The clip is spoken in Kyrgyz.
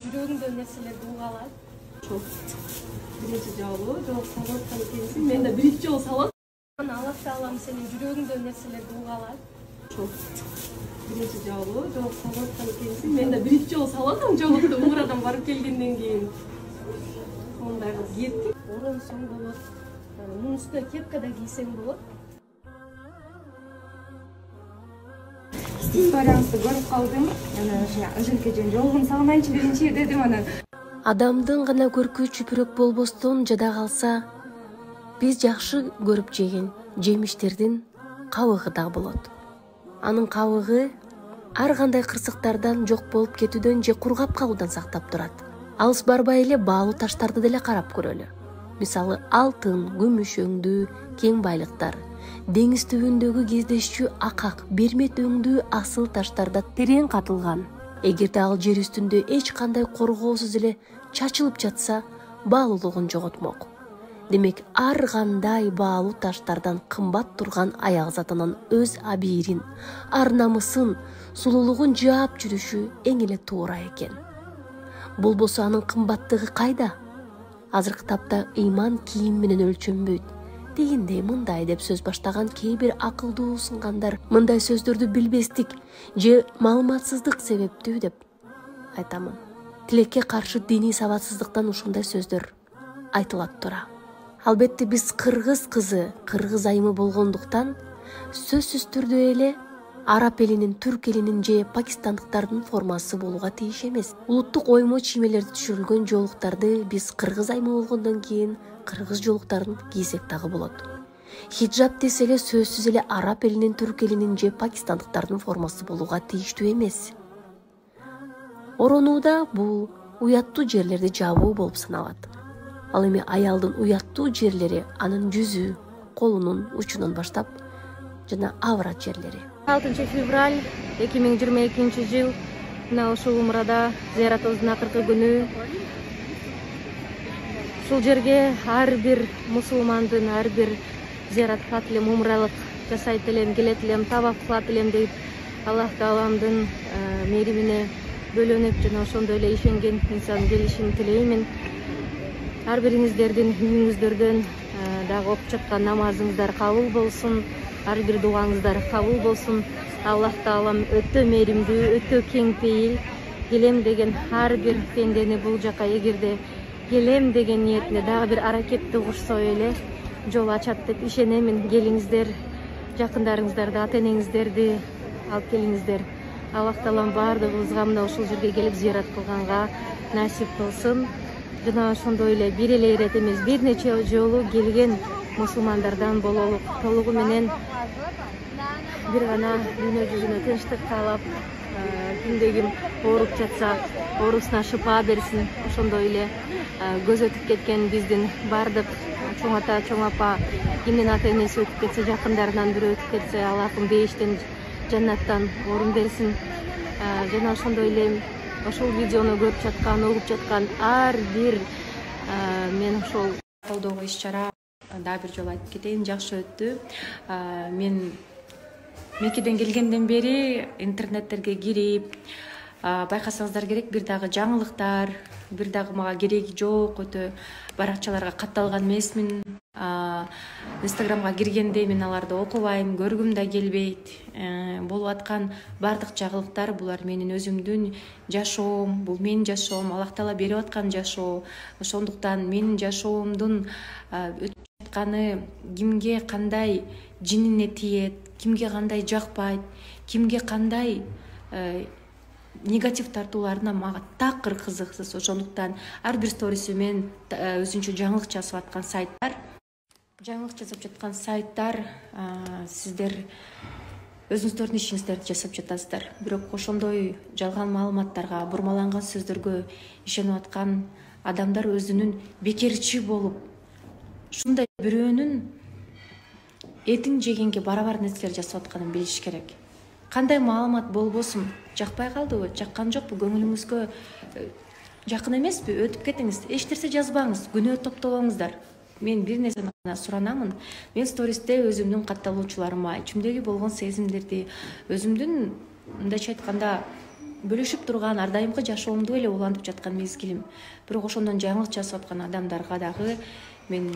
Жүрөгүңдө нерселерди угалы. Ошол биринчи жолу жооп салып аткан экенсиң. Мен да биринчи жолу салып. Аллах таалам сенин жүрөгүңдө нерселерди угалы. Ошол биринчи жолу жооп салып аткан экенсиң. Мен да биринчи жолу салып атам жоопду умрадан барып келгенден кийин. Мындай кылып кийип, оронсоң болот. Мунун үстүнө кепка да кийсең болот. Историяңызды көрүп калдым. Ошентке жолугун салмайынчы биринчи дедим анан. Адамдын гана көркү чүпүрөк болбостон жада калса, биз жакшы көрүп жеген жемиштердин кабыгы да болот. Анын кабыгы ар кандай кырсыктардан жок болуп кетүүдөн же кургап калуудан сактап турат. Алыс барбай эле баалуу таштарды деле карап көрөлү. Мисалы, алтын, күмүш өңдүү кең байлыктар, деңиз түбүндөгү кездешчү акак, бермет өңдүү асыл таштарда терең катылган. Эгерде ал жер үстүндө эч кандай коргоосуз эле чачылып жатса, баалуулугун жоготмок. Демек, ар кандай баалуу таштардан кымбат турган аяк затынын өз абийирин, ар намысын, сулуулугун жаап жүрүшү эң эле туура экен. Болбосо анын кымбаттыгы кайда? Азыркы тапта ыйман кийим менен өлчөнбөйт. Дегендей мындай деп сөз баштаган кээ бир акылдуу сынгандар мындай сөздөрдү билбестик же маалыматсыздык себептүү деп айтамын. Тилекке каршы диний сабатсыздыктан ушундай сөздөр айтылат тура. Албетте биз кыргыз кызы, кыргыз айымы болгондуктан сөзсүз түрдө эле араб элинин, түрк элинин же пакистандыктардын формасы болууга тийиш эмес. Улуттук оймо чиймелерди түшүрүлгөн жоолуктарды биз кыргыз айымы болгондон кийин кыргыз жоолуктарын кийсек дагы болот. Хиджаб десе эле сөзсүз эле араб элинин, түрк элинин же пакистандыктардын формасы болууга тийиштүү эмес. Оронууда бул уяттуу жерлерди жабуу болуп саналат. Ал эми аялдын уяттуу жерлери анын жүзү, колунун учунан баштап жана аврат жерлери. 6 февраль 2022 жыл мына ушул умрада зыяратыбыздын акыркы күнү. Ушул жерге ар бир мусулмандын ар бир зыярат кылат элем, умралык жасайт элем, келет элем, табак кылат элем деп Аллах Тааламдын мээримине бөлөнүп жана ошондой эле ишенген инсан келишин тилеймин. Ар бириңиздердин үйүңүздөрдөн дагы окуп жаткан намазыңыздар кабыл болсун, ар бир дуаңыздар кабыл болсун. Аллах Таалам өтө мээримдүү, өтө кең пейил. Келем деген ар бир пендени бул жака эгерде келем деген ниетине дагы бир аракетти кушсо эле жол ачат деп ишенемин. Келиңиздер, жакындарыңыздарды, ата энеңиздерди алып келиңиздер. Аллах Таалам баардыгыбызга мына ушул жерге келип зыярат кылганга насип кылсын. Жана ошондой эле бир эле ирет эмес, бир нече жолу келген мусулмандардан бололук. Толугу менен бир гана дүйнө жүзүнө тынчтык каалап, кимде ким ооруп жатса, оорусуна шыпа берсин. Ошондой эле көз өтүп кеткен биздин баардык чоң ата, чоң апа, кимдин ата энеси өтүп кетсе, жакындарынан бирөө өтүп кетсе, Аллахым бейиштен, жаннаттан орун берсин. Жана ошондой эле ошол видеону көрүп жаткан, угуп жаткан ар бир мен ошол колдоого иш-чара дагы бир жолу айтып кетейин, жакшы өттү. Мен Меккеден келгенден бери интернеттерге кирип, байкасаңыздар керек, бир дагы жаңылыктар, бир дагы мага кереги жок, өтө баракчаларга катталган эмесмин. Инстаграмга киргенде мен аларды окубайм, көргүм да келбейт. Болуп аткан бардык жагылыктар булар менин өзүмдүн жашоом, бул менин жашоом, Аллах Таала берип аткан жашоо. Ошондуктан менин жашоомдун өтүп жатканы кимге кандай жинине тиет, кимге кандай жакпайт, кимге кандай негатив тартууларына мага такыр кызыксыз. Ошондуктан ар бир сторисиме мен өзүнчө жаңылык жазып жаткан сайттар, сиздер өзүңүздөрдүн ишиңиздерди жасап жатасыздар. Бирок ошондой жалган маалыматтарга, бурмаланган сөздөргө ишенип аткан адамдар өзүнүн бекерчи болуп, ушундай бирөөнүн этин жегенге барабар нерселер жасап атканын билиш керек. Кандай маалымат болбосун, жакпай калдыбы, жаккан жокпу, көңүлүңүзгө жакын эмеспи, өтүп кетиңиз. Эч нерсе жазбаңыз, күнөө топтобоңуздар. Мен бир нерсени гана суранамын. Мен стористе өзүмдүн катталуучуларыма ичимдеги болгон сезимдерди, өзүмдүн мындайча айтканда бөлүшүп турган ар дайымкы жашоомду эле улантып жаткан мезгилим. Бирок ошондон жаңылык жасап аткан адамдарга дагы мен